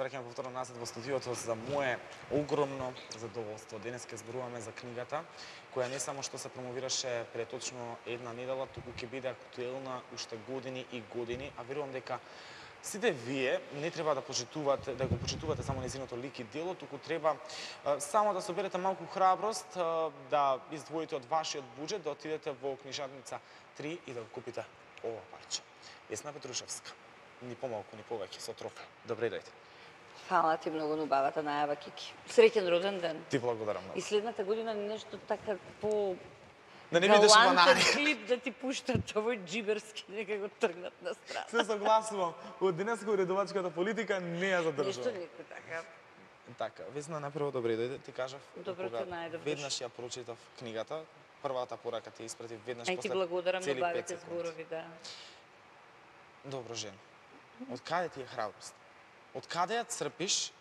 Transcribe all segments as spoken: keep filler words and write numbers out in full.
враќаме повторно назад во студиото за мое огромно задоволство. Денес ќе зборуваме за книгата, која не само што се промовираше пред точно една недела, туку ќе биде актуелна уште години и години, а верувам дека сите вие не треба да почитувате, да го почитувате само незиното лик и дело, туку треба а, само да соберете малку храброст, а, да издвоите од вашиот буџет, да отидете во книжарница три и да го купите ова парче. Весна Петрушевска. Ни помалку, ни повеќе, со трофе. Добре дојде. Фала ти многу на убавата најава, Кики. Среќен роден ден. Ти благодарам многу. И следната година нешто така по Да не бидеш банани. клип да ти пуштат овој джиберски, нека го тргнат на страна. Се согласувам. Од денес го редовачката политика не ја задржувам. Нешто некој така. Така, Весна, најпрво добре дојде. Ти кажав, Добро те најдов. веднаш ја прочитав книгата, првата порака ти испратив веднаш Ај после ти благодарам цели на пет бавите секунди. зборови, да. Добро, жена. Од каде ти е храброст? Од каде ја црпиш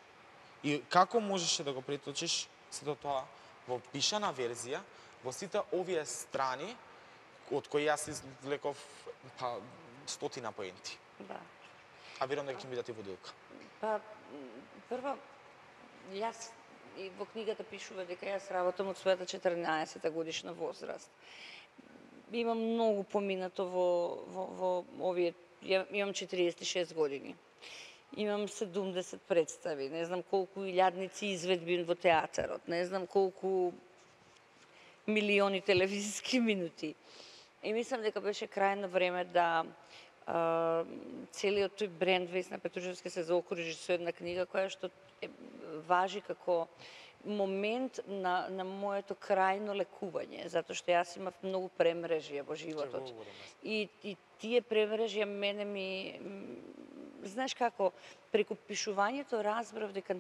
и како можеше да го преточиш сето тоа во пишана верзија, во сите овие страни од кои јас извлеков па стотина поенти. Да. А верувам дека ќе ми бидат и водилка. Па, прво, јас и во книгата пишува дека јас работам од својата четрнаесета годишна возраст. Имам многу поминато во, во, во овие, ја, имам четириесет и шест години. Имам седумдесет представи, не знам колку илјадници изведби во театарот, не знам колку милиони телевизиски минути. И мислам дека беше крајно време да а, целиот тој бренд Весна Петрушевска се заокружи со една книга која што е, важи како момент на, на моето крајно лекување, затоа што јас имав многу премрежија во животот. И, и тие премрежија мене ми... Знаеш како, преку пишувањето разбрав дека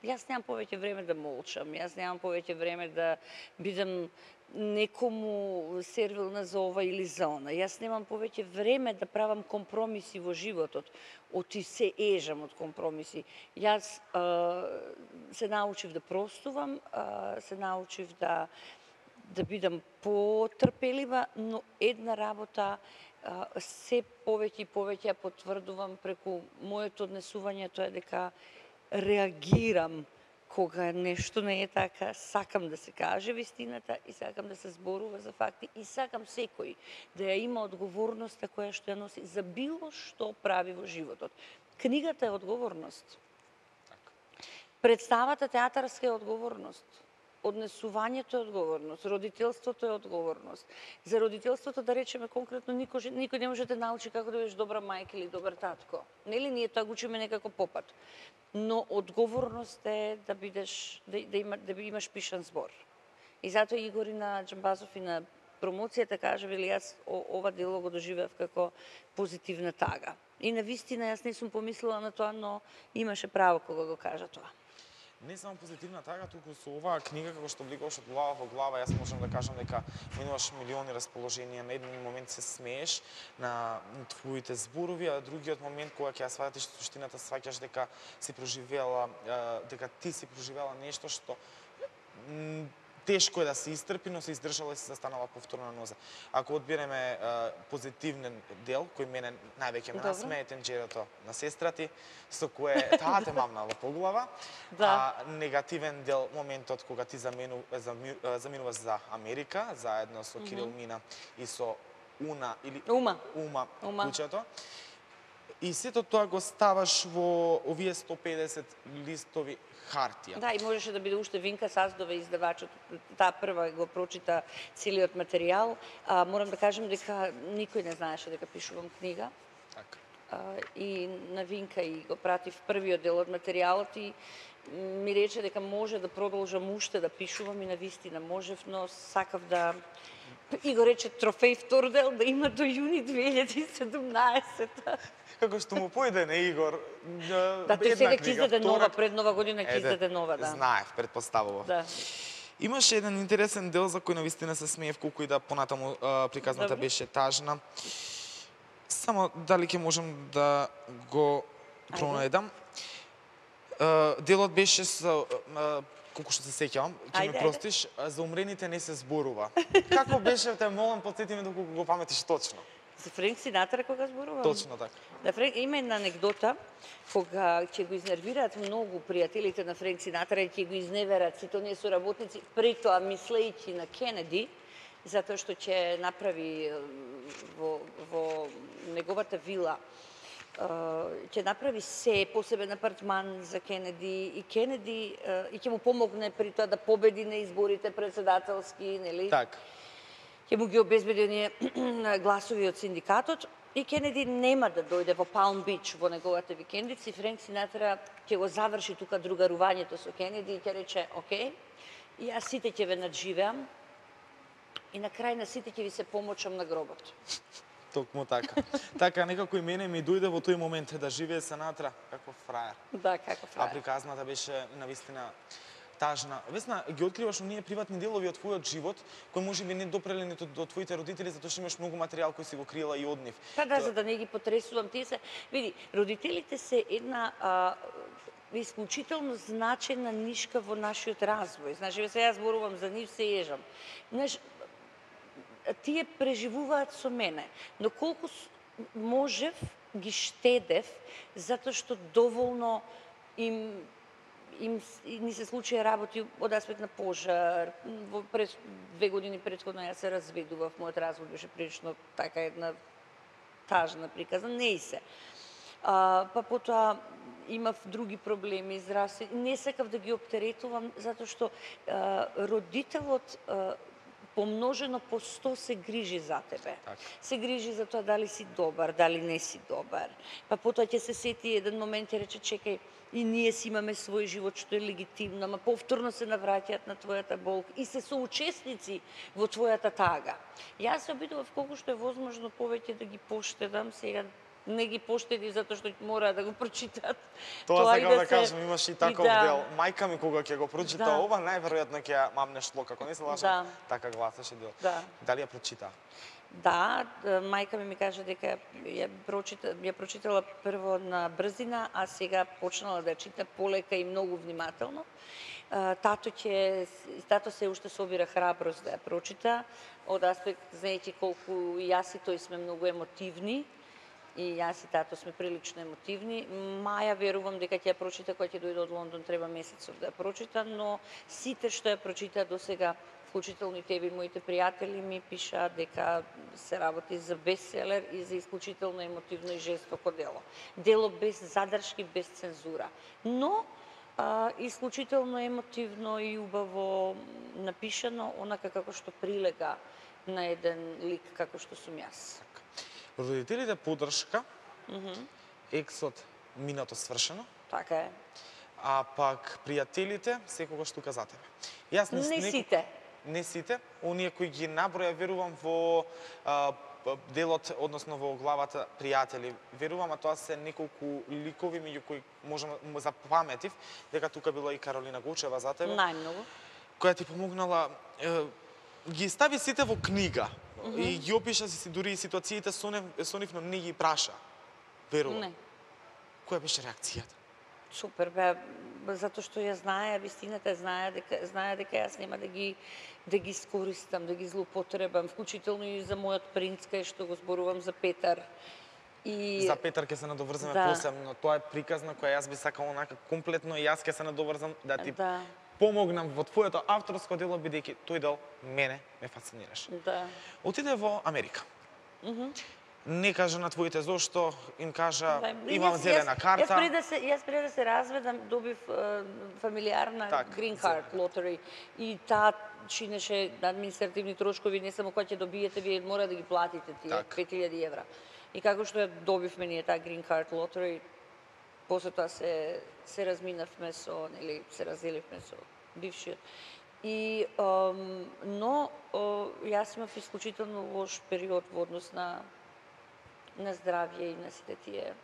јас немам повеќе време да молчам, јас немам повеќе време да бидам некому сервилна за ова или за она. Јас немам повеќе време да правам компромиси во животот. Оти се ежам од компромиси. Јас а, се научив да простувам, а, се научив да да бидам потрпелива, но една работа а, се повеќе и повеќе ја потврдувам преку моето однесување, тоа е дека реагирам кога нешто не е така, сакам да се каже вистината и сакам да се зборува за факти и сакам секој да ја има одговорноста која што ја носи за било што прави во животот. Книгата е одговорност. Представата театарска е одговорност. Однесувањето е одговорност, родителството е одговорност. За родителството, да речеме конкретно, никој, никој не може да те научи како да бидеш добра мајка или добар татко. Нели ние тоа го учиме некако попат. Но одговорност е да бидеш да, да, има, да имаш пишан збор. И затоа Игор и на Џамбазов и на промоцијата кажа, вели јас ова дело го доживеав како позитивна тага. И на вистина јас не сум помислила на тоа, но имаше право кога го кажа тоа. Не само позитивна тага, туку со оваа книга, како што влегуваш од глава во глава, јас можам да кажам дека минуваш милиони расположенија, на еден момент се смееш на твоите зборови, а другиот момент кога ќе ја сватиш суштината, сваќаш дека си проживела, дека ти си проживела нешто што тешко е да се истрпи, но се издржала и се застанала повторно на нозе. Ако одбереме позитивен дел, кој мене највеќе ме насмее, тенџерото на сестра ти, со кое таа те мамнала по глава, да. А негативен дел, моментот кога ти замену, замину, заминуваш за Америка, заедно со Кирил Мина и со Уна, или Ума, Ума, Ума. куќето. И сето тоа го ставаш во овие сто педесет листови хартија. Да, и можеше да биде уште Винка Саздова, издавачот, таа прва го прочита целиот материјал. А, морам да кажам дека никој не знаеше дека пишувам книга. Така. А, и на Винка и го пратив првиот дел од материјалот и ми рече дека може да продолжам уште да пишувам и на вистина можев, но сакав да и го рече трофеј втор дел да има до јуни две илјади и седумнаесета. Како што му појде на Игор, да, тој сега ќе издаде нова, пред нова година ќе издаде нова, да. Знаев, предпоставував. Да. Имаше еден интересен дел за кој навистина се смеев, колку и да понатаму а, приказната Добре. беше тажна. Само дали ќе можам да го пронајдам. Делот беше со а, колку што се сеќавам, ќе ме простиш, за умрените не се зборува. Како беше, те молам, потсети ме доколку го паметиш точно. За Френк Синатра кога зборувам? Точно така. Да, Френк, има една анекдота кога ќе го изнервираат многу пријателите на Френк Синатра и ќе го изневерат сите оние соработници, при тоа мислејќи на Кенеди, затоа што ќе направи во, во неговата вила ќе направи се посебен апартман за Кенеди и Кенеди и ќе му помогне при тоа да победи на изборите председателски, нели? Така. Ќе му ги обезбеди оние гласови од синдикатот и Кенеди нема да дојде во Палм Бич во неговата викендица и Френк Синатра ќе го заврши тука другарувањето со Кенеди и ќе рече, окей, и јас сите ќе ве надживеам и на крај на сите ќе ви се помочам на гробот. Токму така. Така некако и мене ми дојде во тој момент да живее Синатра како фраер. Да, како А фраер. приказната беше навистина тажна. Весна, ги откриваш оние приватни делови од твојот живот, кои можеби не допреле ниту до твоите родители, затоа што имаш многу материјал кој си го крила и од нив. Па да, за да не ги потресувам, тие се, види, родителите се една а, исклучително значена нишка во нашиот развој. Значи, ве сега зборувам за нив, се ежам. Знаеш, тие преживуваат со мене, но колку можев, ги штедев, затоа што доволно им им ни се случија работи од аспект на пожар. Во пред две години претходно јас се разведував, мојот развод беше прилично така една тажна приказна, не и се. А, па потоа имав други проблеми, здравствени. Не сакав да ги оптеретувам, затоа што а, родителот а, помножено по сто се грижи за тебе. Так. Се грижи за тоа дали си добар, дали не си добар. Па потоа ќе се сети еден момент и рече, чекај, и ние си имаме свој живот што е легитимно, ама повторно се навраќаат на твојата болка и се соучесници во твојата тага. Јас се обидував колку што е возможно повеќе да ги поштедам, сега не ги поштеди затоа што мора да го прочитат. Тоа сакам и да, се- кажам, имаш и таков да. дел. Мајка ми кога ќе го прочита Да. ова, најверојатно ќе ја мамне шлок, ако не се лажам, Да. така гласеше дел. Да. Дали ја прочита? Да, д- мајка ми ми кажа дека ја прочита, ја прочитала прво на брзина, а сега почнала да ја чита полека и многу внимателно. А, Тато ќе тато се уште собира храброст да ја прочита, од аспект знаејќи колку и јас и тој сме многу емотивни. И јас и тато сме прилично емотивни. Маја верувам дека ќе ја прочита кога ќе дојде од Лондон, треба месецов да ја прочита, но сите што ја прочита до сега, вклучително и тебе и моите пријатели ми пишаат дека се работи за бестселер и за исклучително емотивно и жестоко дело. Дело без задршки, без цензура. Но а, исклучително емотивно и убаво напишано, онака како што прилега на еден лик како што сум јас. Родителите поддршка, ексот минато свршено, Така е. а пак пријателите секогаш тука за тебе. Јас Не неко- сите. Не сите, оние кои ги наброја, верувам во а, п- делот, односно во главата пријатели. Верувам, а тоа се неколку ликови меѓу кои можам м- запаметив дека тука била и Каролина Гучева за тебе, Најмногу. која ти помогнала, е, ги стави сите во книга и ги опиша си дури и ситуациите со нив, со нив, но не ги праша. Верувам. Не. Која беше реакцијата? Супер, бе, затоа што ја знае вистината, знае дека знае дека јас нема да ги да ги искористам, да ги злоупотребам, вклучително и за мојот принц кај што го зборувам за Петар. И За Петар ќе се надоврзаме Да. посебно. Тоа е приказна која јас би сакала онака комплетно и јас ќе се надоврзам да ти да, помогнам во твоето авторско дело, бидејќи тој дел мене ме фасцинираше. да. Отиде во Америка. Не кажа на твоите зошто, им кажа Да, имам јас- зелена јас- карта. Јас пред да се јас пред да се разведам добив е, фамилиарна Так, Green зелена. Card lottery и таа чинеше административни трошкови, не само кога ќе добиете, вие мора да ги платите тие Так. пет илјади евра. И како што ја добивме ние таа Green Card lottery, после тоа се се разминавме со, нели, се разделивме со бившиот. И ам, но о, јас имав исклучително лош период во однос на на здравје и на сите тие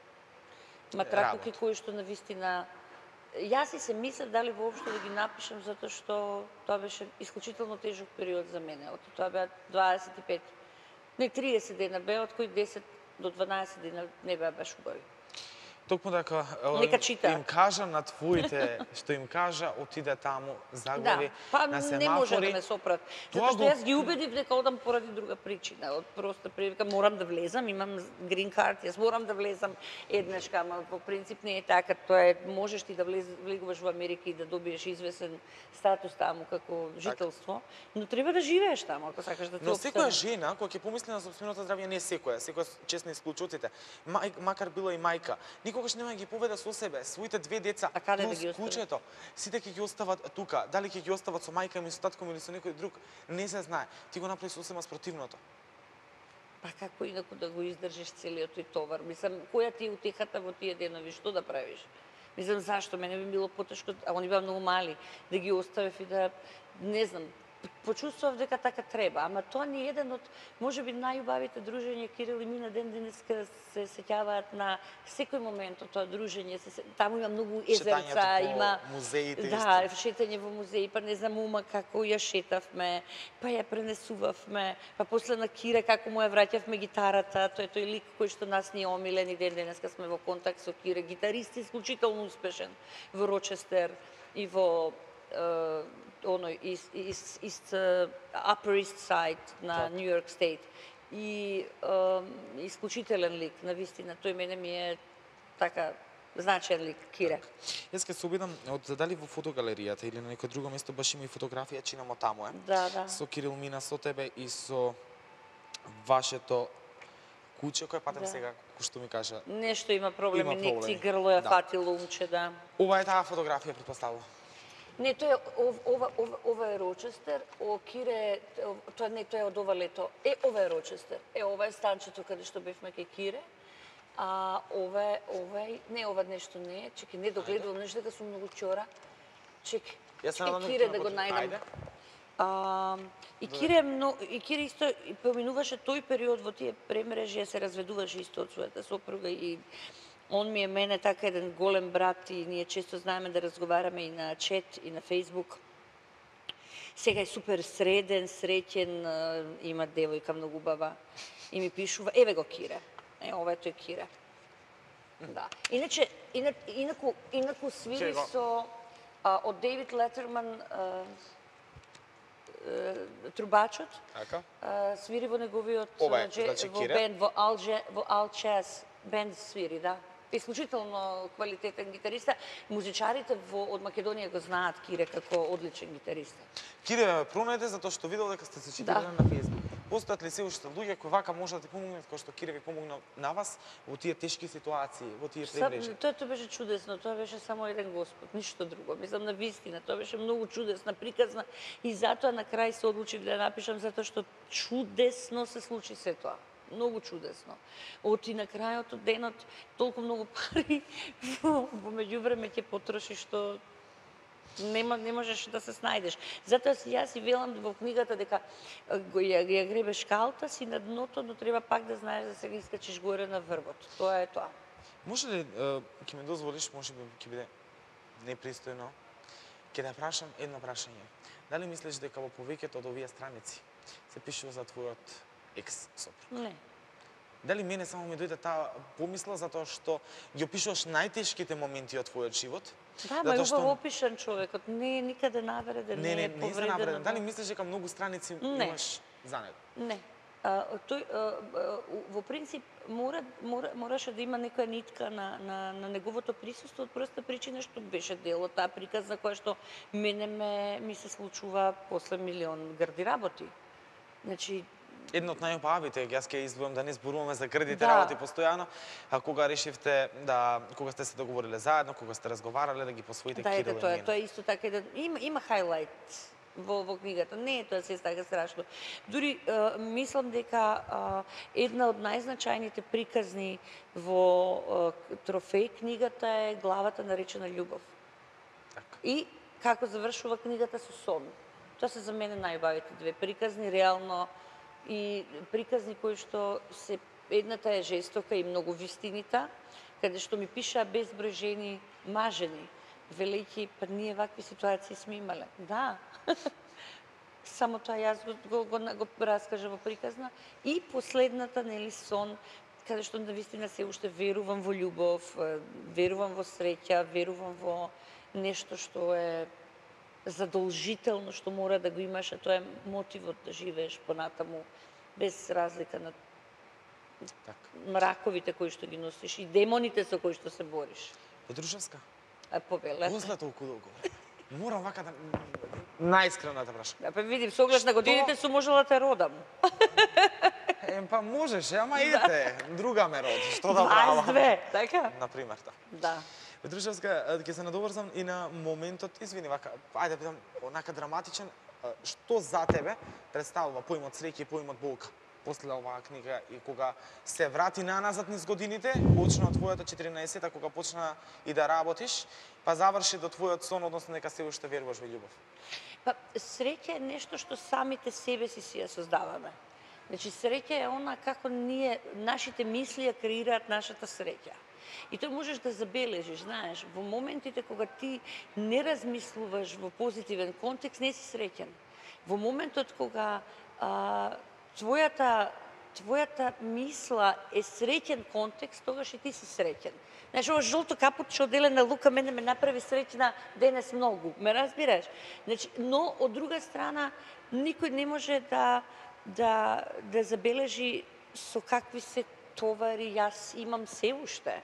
матракуки Работа. кои што навистина јас и се мислев дали воопшто да ги напишам затоа што тоа беше исклучително тежок период за мене. Од тоа беа дваесет и пет, не тридесет дена беа, од кои десет до дванаесет дена не беа баш убави. Токму дека е, Нека чита. им кажа на твоите, што им кажа, отиде таму, загледи Да, па на не може да семафори. ме сопрат. Тоа Затоа што го- јас ги убедив дека одам поради друга причина. Од проста прилика морам да влезам, имам грин карт, јас морам да влезам еднашка, ама по принцип не е така. Тоа е, можеш ти да влез, влегуваш во Америка и да добиеш извесен статус таму како жителство, но треба да живееш таму ако сакаш да ти Но секоја опстане. жена, која ќе помисли на сопственото здравје, не секоја, секоја честни исклучоците, мај, макар била и мајка, никогаш нема да ги поведа со себе, своите две деца, А каде да плюс ги остави? кучето, сите ќе ги остават тука, дали ќе ги остават со мајка ми, со татком или со некој друг, не се знае. Ти го направи сосема спротивното. Па како инаку да го издржиш целиот тој товар? Мислам, која ти е утехата во тие денови? Што да правиш? Мислам, зашто? Мене би било потешко, а они беа многу мали, да ги оставев и да, не знам, почувствував дека така треба, ама тоа не е еден од, можеби, најубавите дружења. Кирил и Мина ден денеска се сеќаваат на секој момент од тоа дружење. Се, се- таму има многу езерца, Шетањето по има музеите да, исто. шетање во музеи, па не знам ума како ја шетавме, па ја пренесувавме, па после на Кире како му ја враќавме гитарата, тој е тој лик кој што нас ни е омилен и ден денеска сме во контакт со Кире, гитарист исклучително успешен во Рочестер и во е, оној из, из, из, uh, Upper East Side на Така. Нью Йорк Стейт. И е, исклучителен лик, навистина. Тој мене ми е така значаен лик, Кире. Јас ќе се обидам од дали во фотогалеријата или на некој друго место баш има и фотографија, чинамо таму е. Да, да. Со Кирил Мина, со тебе и со вашето куче, кој патем Да. сега, кој што ми кажа. Нешто има проблем, Има инекции, проблеми. грло ја Да. фатило умче, да. Ова е таа фотографија, претпоставувам. Не, тоа е ов- ова ова ова е Рочестер, о Кире, ов- тоа не тоа е од ова лето. Е, ова е Рочестер. Е, ова е станчето каде што бевме кај Кире. А ова е ова е не ова нешто не е. Чекај, не догледувам нешто дека сум многу чора. Чекај. Јас се Е, надам Кире ќе да го најдам. најдам. Ајде. А, и Кире е мно, и Кире исто и поминуваше тој период во тие премрежи, ја се разведуваше исто од својата сопруга и он ми е мене така еден голем брат и ние често знаеме да разговараме и на чет и на Фейсбук. Сега е супер среден, среќен, а, има девојка многу убава и ми пишува, еве го Кире. Е, ова е тој Кире. Да. Иначе, ина, инаку, инаку свири Чего? со а, од Дейвид Летерман а, а, трубачот, Така. а, свири во неговиот Ова е, а, дже- значи, во Кире? бенд, во Ал, Дже- во Ал Час бенд свири, да. Исклучително квалитетен гитариста. Музичарите во, од Македонија го знаат Кире како одличен гитариста. Кире ме пронајде затоа што видел дека сте се читали Да. на Фејсбук. Постојат ли се уште луѓе кои вака може да ти помогнат, кои што Кире ви помогна на вас во тие тешки ситуации, во тие Сам, преврежи? тоа тоа беше чудесно, тоа беше само еден Господ, ништо друго. Мислам на вистина, тоа беше многу чудесна, приказна и затоа на крај се одлучив да ја напишам затоа што чудесно се случи се тоа. Многу чудесно. Оти на крајот од денот толку многу пари во, во меѓувреме ќе потрошиш што нема не можеш да се снајдеш. Затоа си јас и велам во книгата дека е, го ја, ја гребеш калта си на дното, но треба пак да знаеш да се ги искачиш горе на врвот. Тоа е тоа. Може ли, ќе ми дозволиш, може би ќе биде непристојно, ќе да прашам едно прашање. Дали мислиш дека во повеќето од овие страници се пишува за твојот екс сопруг? Не. Дали мене само ми дојде таа помисла затоа што ги опишуваш најтешките моменти од твојот живот? Да, ма е Затоа што- убаво опишан човекот, не е никаде навреден, Не, не, е не за повреден. навреден. Дали мислиш дека многу страници Не. имаш за него? Не. А, тој, а, а, во принцип, мора, мора, мораше да има некоја нитка на, на, на неговото присуство, од проста причина што беше дел од таа приказна која што мене ме, ми се случува после милион грди работи. Значи, Едно од најубавите, јас ќе изборам да не зборуваме за грдите Да. работи постојано, а кога решивте да, кога сте се договориле заедно, кога сте разговарале да ги посвоите да, Кирил ете, и тоа, Мина. тоа е исто така еден, има, има хайлайт во, во книгата, не е тоа се така страшно. Дури е, мислам дека е, една од најзначајните приказни во е, трофеј книгата е главата наречена љубов. Така. И како завршува книгата со сон. Тоа се за мене најубавите две приказни, реално и приказни кои што се едната е жестока и многу вистинита, каде што ми пишаа безброј жени мажени, велејќи па ние вакви ситуации сме имале. Да. Само тоа јас го, го, го, го раскажа во приказна. И последната, нели, сон, каде што навистина се уште верувам во љубов, верувам во среќа, верувам во нешто што е задолжително, што мора да го имаш, а тоа е мотивот да живееш понатаму, без разлика на Так. мраковите кои што ги носиш и демоните со кои што се бориш. Петрушевска, А повеле. позна толку долго. Морам вака да најискрено да те прашам. Да, па видим, со оглед на годините сум можела да те родам. Е, па можеш, ама идете, друга ме роди, што да правам? дваесет две, така? Например, да. Да. Петрушевска, ќе се надоврзам и на моментот, извини вака, ајде да питам, онака драматичен, што за тебе представува поимот среќа и поимот болка? После оваа книга и кога се врати наназад низ годините, почна од твојата четиринаесета, кога почна и да работиш, па заврши до твојот сон, односно дека се уште веруваш во љубов. Па среќа е нешто што самите себе си си ја создаваме. Значи среќа е она како ние, нашите мисли ја креираат нашата среќа. И тој можеш да забележиш, знаеш, во моментите кога ти не размислуваш во позитивен контекст, не си среќен. Во моментот кога а, твојата твојата мисла е среќен контекст, тогаш и ти си среќен. Знаеш, ова жолто капутче од Елена Лука мене ме направи среќна денес многу, ме разбираш? Значи, но од друга страна никој не може да да да забележи со какви се товари јас имам се уште.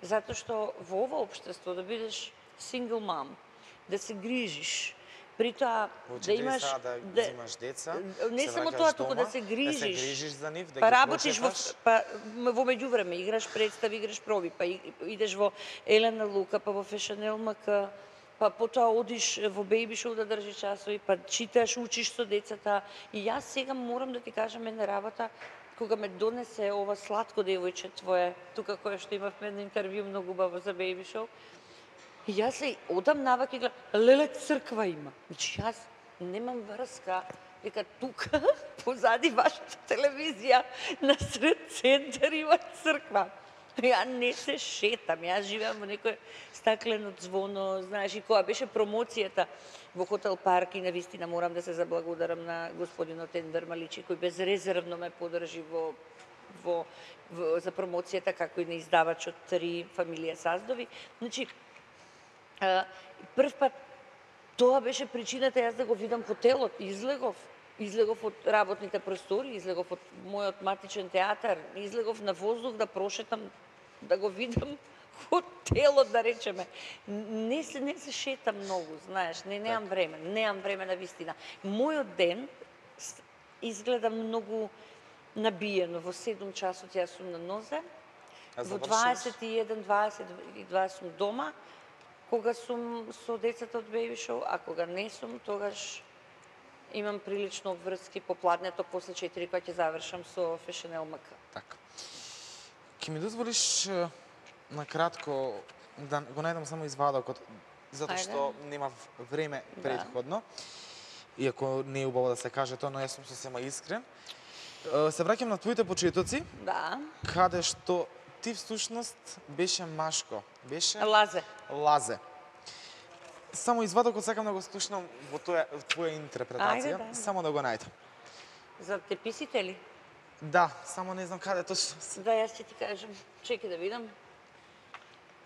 Затоа што во ова општество да бидеш сингл мам, да се грижиш, при тоа да имаш да, да взимаш деца, не се само враќаш тоа, туку да дома, се да грижиш. се грижиш за нив, да па ги работиш во прочеташ. па во меѓувреме играш представи, играш проби, па и- идеш во Елена Лука, па во Fashion L M K, па потоа одиш во Baby Show да држиш часови, па читаш, учиш со децата. И јас сега морам да ти кажам една работа, кога ме донесе ова сладко девојче твое, тука кое што имавме едно интервју многу убаво за Baby Show, и јас се одам наваки и гледам, леле црква има. Значи јас немам врска дека тука позади вашата телевизија на сред центар има црква. Ја не се шетам, јас живеам во некој стаклено звоно, знаеш, и која беше промоцијата во Хотел Парк и навистина морам да се заблагодарам на господинот Енвер Маличи кој безрезервно ме подржи во во, во за промоцијата како и на издавачот Три фамилија Саздови. Значи а, прв пат тоа беше причината јас да го видам хотелот, излегов, излегов од работните простори, излегов од мојот матичен театар, излегов на воздух да прошетам, да го видам хотелот, да речеме. Не се, не се шетам многу, знаеш, не, немам време, немам време на вистина. Мојот ден изгледа многу набиено. Во седум часот јас сум на нозе, А во завршуваш? дваесет и еден, дваесет и два сум дома, кога сум со децата од Baby Show, а кога не сум, тогаш имам прилично обврски попладнето, после четири кога ќе завршам со Fashion L M K. Така. Ќе ми дозволиш е, на кратко да го најдам само извадокот, затоа Ајде. што нема време Да. претходно. Иако не е убаво да се каже тоа, но јас сум сосема искрен. Е, Се враќам на твоите почетоци, Да. каде што ти всушност беше машко, беше Лазе. Лазе. Само извадокот сакам да го слушнам во тоја во твоја интерпретација, Ајде, да. само да го најдам. За теписите ли? Да, само не знам каде точно се. Да, јас ќе ти кажам. Чекај да видам.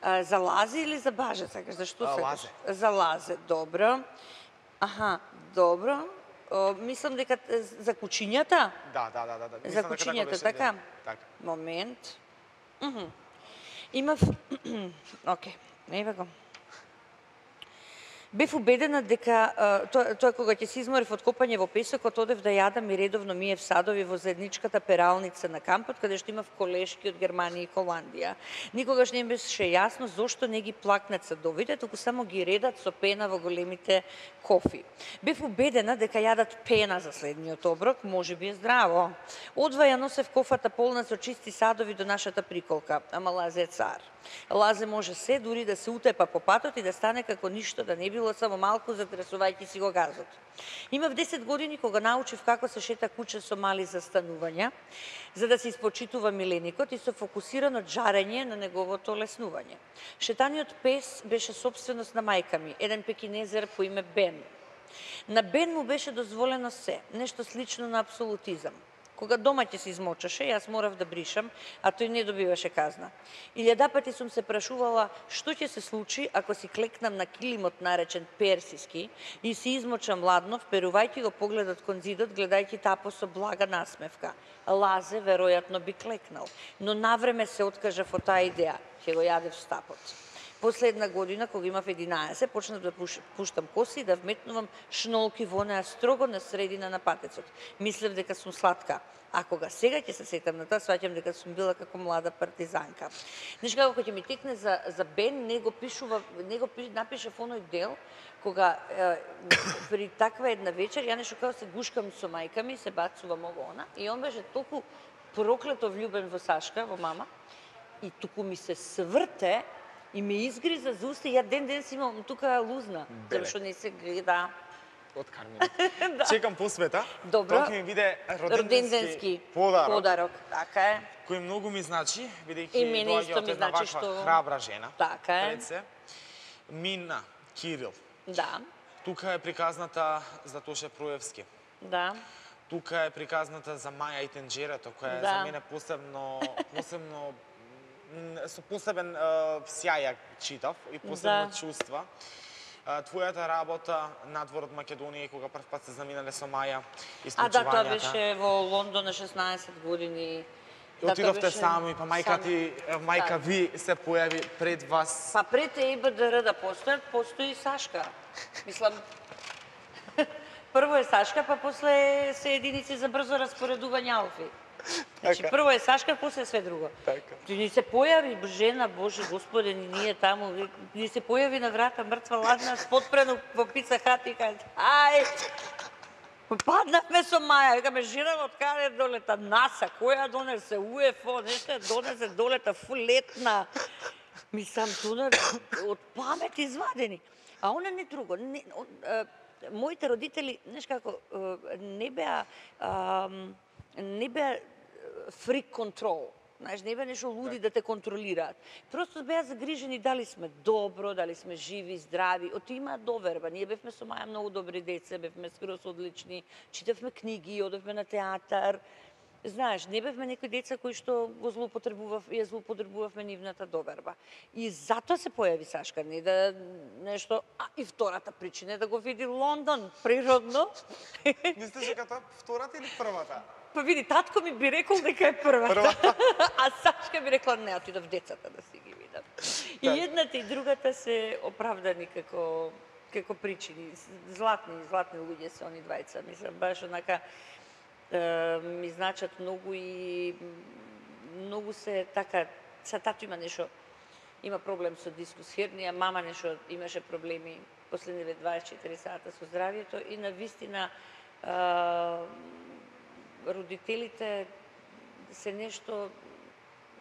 А, за лазе или за баже сакаш? За што А, сакаш? лазе. За лазе, добро. Аха, добро. О, мислам дека е за кучињата. Да, да, да, да, да. За Мислам дека кучињата, беше така? ден. Така. Момент. Мгм. Имав... Оке, еве го. Бев убедена дека а, тоа, тоа кога ќе се изморив од копање во песокот, одев да јадам и редовно миев садови во заедничката пералница на кампот, каде што имав колешки од Германија и Холандија. Никогаш не ми беше јасно зошто не ги плакнат садовите, туку само ги редат со пена во големите кофи. Бев убедена дека јадат пена за следниот оброк, може би е здраво. Одва ја носев кофата полна со чисти садови до нашата приколка, ама Лазе е цар. Лазе може се, дури да се утепа по патот и да стане како ништо, да не било само малку затресувајќи си го газот. Имав десет години кога научив како се шета куче со мали застанувања, за да се испочитува миленикот и со фокусирано джарење на неговото леснување. Шетаниот пес беше собственост на мајка ми, еден пекинезер по име Бен. На Бен му беше дозволено се, нешто слично на апсолутизам. Кога дома ќе се измочаше, јас морав да бришам, а тој не добиваше казна. Илјада пати сум се прашувала што ќе се случи ако си клекнам на килимот наречен персиски и си измочам ладнов, перувајќи го погледот кон зидот, гледајќи тапо со блага насмевка. Лазе веројатно би клекнал, но навреме се откажав од таа идеја, ќе го јадев стапот. После една година, кога имав единаесет, почнав да пуштам коси и да вметнувам шнолки во неа строго на средина на патецот. Мислев дека сум сладка. А кога сега ќе се сетам на тоа, сваќам дека сум била како млада партизанка. Знаеш како ќе ми текне за, за Бен, не го пишува, не го напишав оној дел, кога е, при таква една вечер, ја нешто како се гушкам со мајка ми, се бацувам ово она, и он беше толку проклето влюбен во Сашка, во мама, и туку ми се сврте, и ме изгриза за уста, ја ден ден си имам тука лузна, зашто не се гледа. Од Кармина. Да. Чекам посвета. Добро. Тоа ќе ми биде роденденски, роденденски подарок. подарок. Така е. Кој многу ми значи, бидејќи И мене доаѓа исто од ми една значи ваква што- храбра жена. Така е. Пред се. Мина Кирил. Да, Тука е приказната за Тоше Проевски. да. Тука е приказната за Маја и Тенџерето, која е Да. за мене посебно, посебно м, со посебен е, сјај ја читав и посебно Да. чувства. Е, Твојата работа надвор од Македонија, кога прв пат се заминале со Маја, А да, тоа исклучувањата. беше во Лондон на шеснаесет години. И Да, тоа отидовте беше сами, па мајка сами. ти, мајка Да. ви се појави пред вас. Па пред ЕИБДР да постојат, постои и Сашка. Мислам, прво е Сашка, па после се единици за брзо распоредување алфи. Значи, Така. прво е Сашка, после све друго. Така. Ти ни се појави жена, Боже Господе, ни ние таму, ни се појави на врата мртва ладна, спотпрено во пица хат и каже, ај, паднавме со Маја, викаме, жена од каде долета, НАСА, која донесе, УЕФО, нешто ја донесе, долета, фулетна. Мислам, туна од памет извадени. А она не друго. Не, он, е, моите родители, знаеш како, е, не беа, а, не беа фрик контрол. Знаеш, не беа нешто луди да те контролираат. Просто беа загрижени дали сме добро, дали сме живи, здрави. Од има доверба. Ние бевме со Маја многу добри деца, бевме скроз одлични, читавме книги, одевме на театар. Знаеш, не бевме некои деца кои што го злоупотребував, ја злоупотребувавме нивната доверба. И затоа се појави Сашка, не да нешто, а и втората причина е да го види Лондон, природно. Мислиш дека тоа втората или првата? Па види, татко ми би рекол дека е првата. Првата. А Сашка би рекла, не, отидов децата да си ги видам. И Така. едната и другата се оправдани како како причини. Златни, златни луѓе се они двајца. Мислам, баш онака е, ми значат многу и многу се така, са тато има нешто, има проблем со дискус хернија, мама нешто имаше проблеми последниве дваесет и четири сата со здравието и на вистина родителите се нешто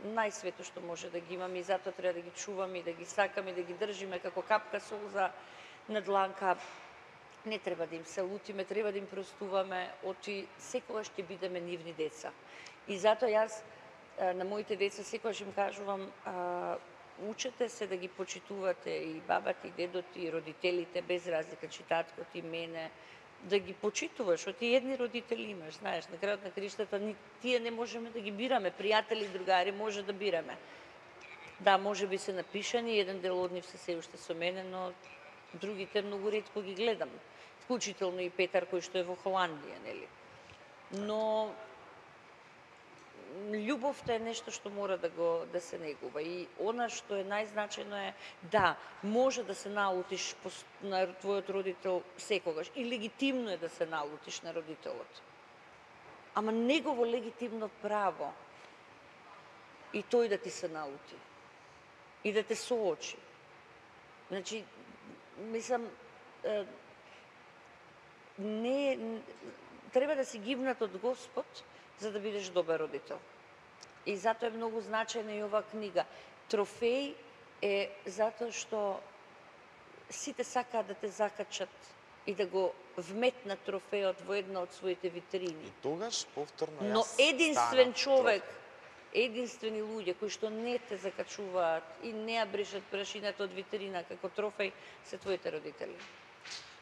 најсвето што може да ги имаме и затоа треба да ги чуваме и да ги сакаме и да ги држиме како капка солза на дланка. Не треба да им се лутиме, треба да им простуваме, очи секогаш ќе бидеме нивни деца. И затоа јас а, на моите деца секогаш им кажувам, а, учете се да ги почитувате и бабата, и дедот, и родителите, без разлика, чи таткот и мене, да ги почитуваш, оти едни родители имаш, знаеш, на крајот на криштата, ни тие не можеме да ги бираме, пријатели, другари, може да бираме. Да, може би се напишани, еден дел од нив се се уште со мене, но другите многу ретко ги гледам. Вклучително и Петар, кој што е во Холандија, нели? Но љубовта е нешто што мора да го да се негува и она што е најзначајно е да може да се налутиш на твојот родител секогаш и легитимно е да се налутиш на родителот. Ама негово легитимно право и тој да ти се налути и да те соочи. Значи, мислам, е, не треба да си гивнат од Господ за да бидеш добар родител. И затоа е многу значајна и оваа книга. Трофеј е затоа што сите сакаат да те закачат и да го вметнат трофеот во една од своите витрини. И тогаш повторно јас Но единствен станав човек, трофеј. единствени луѓе кои што не те закачуваат и не ја брешат прашината од витрина како трофеј се твоите родители.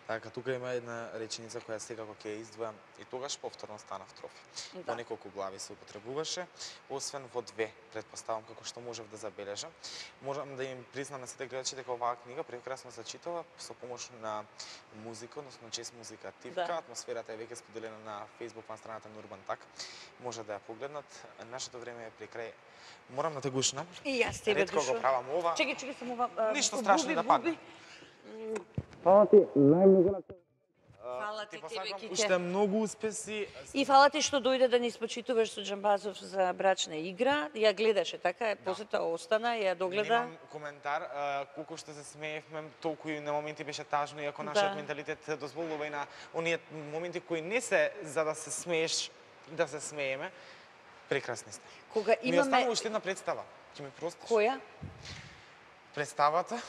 Така, тука има една реченица која секако ќе ја издвојам и тогаш повторно станав трофи. Да. Во неколку глави се употребуваше, освен во две, предпоставам како што можев да забележам. Можам да им признам на сите гледачи дека оваа книга прекрасно се читава со помош на музика, односно чест музика Тивка. Да. Атмосферата е веќе споделена на Facebook на страната на Урбан Так. Може да ја погледнат. Нашето време е при крај. Морам да те гушнам. И јас тебе Ретко го правам ова. Чекај, чекай само ова. а, Ништо буби, страшно да буби. падне. Фала ти, најмногу на тебе. Фала ти, Ти тебе, посакам Кике. уште многу успеси. И фала ти што дојде да ни спочитуваш со Џамбазов за брачна игра. Ја гледаше така, после тоа остана, ја догледа. Немам коментар, а, колку што се смеевме, толку и на моменти беше тажно, иако нашиот Да. менталитет дозволува и на оние моменти кои не се за да се смееш, да се смееме. Прекрасни сте. Кога Ми имаме останува уште една представа. Ќе ми простиш? која? Представата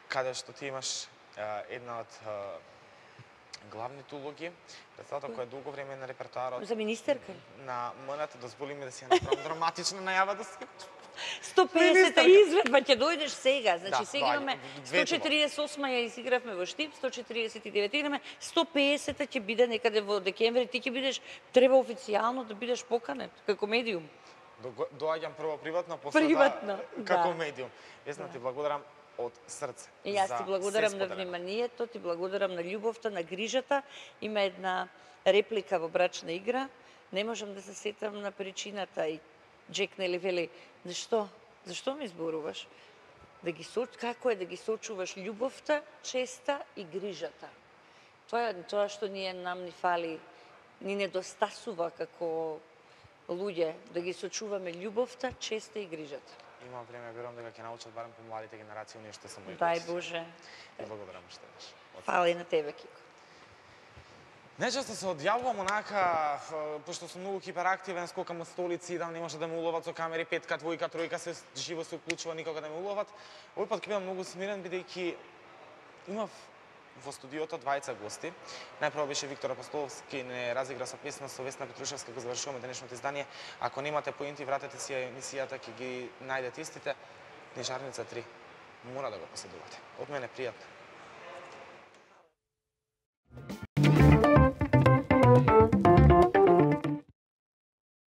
каде што ти имаш а, една од а, главните улоги, представата која долго време е на репертоарот За министерка? на МН-т, дозволи ми да си ја направам драматична најава да се сто песета Министерка. изведба ќе дојдеш сега. Значи Да, сега доаѓа. имаме Две сто четиридесет и осма ја изигравме во Штип, сто четиридесет и девета имаме, сто песета ќе биде некаде во декември, ти ќе бидеш треба официјално да бидеш поканет како медиум. Дого- Доаѓам прво приватно, после Приватно, тоа како да. медиум. Весна, Да. ти благодарам од срце. И јас за ти се благодарам на споделено. вниманието, ти благодарам на љубовта, на грижата. Има една реплика во брачна игра. Не можам да се сетам на причината и Джек нели вели, зашто? Зашто ми зборуваш? Да ги со... како е да ги сочуваш љубовта, честа и грижата. Тоа е тоа што ние нам ни фали, ни недостасува како луѓе, да ги сочуваме љубовта, честа и грижата. Има време, верувам дека ќе научат барем помладите генерации оние што се мои Дај гости. Боже. Ти благодарам уште еднаш. Од Фала и на тебе, Кико. Најчесто се одјавувам онака, ф- пошто сум многу хиперактивен, скокам од столици, идам, не може да ме уловат со камери, петка, двојка, тројка, се живо се уклучува, никога да ме уловат. Овој пат ќе бидам многу смирен, бидејќи имав во студиото двајца гости. Најпрво беше Виктор Апостоловски, не разигра со песна со Весна Петрушевска, го завршуваме денешното издание. Ако немате поинти, вратете си ја емисијата, ќе ги најдете истите. Книжарница три. Мора да го поседувате. Од мене пријатно.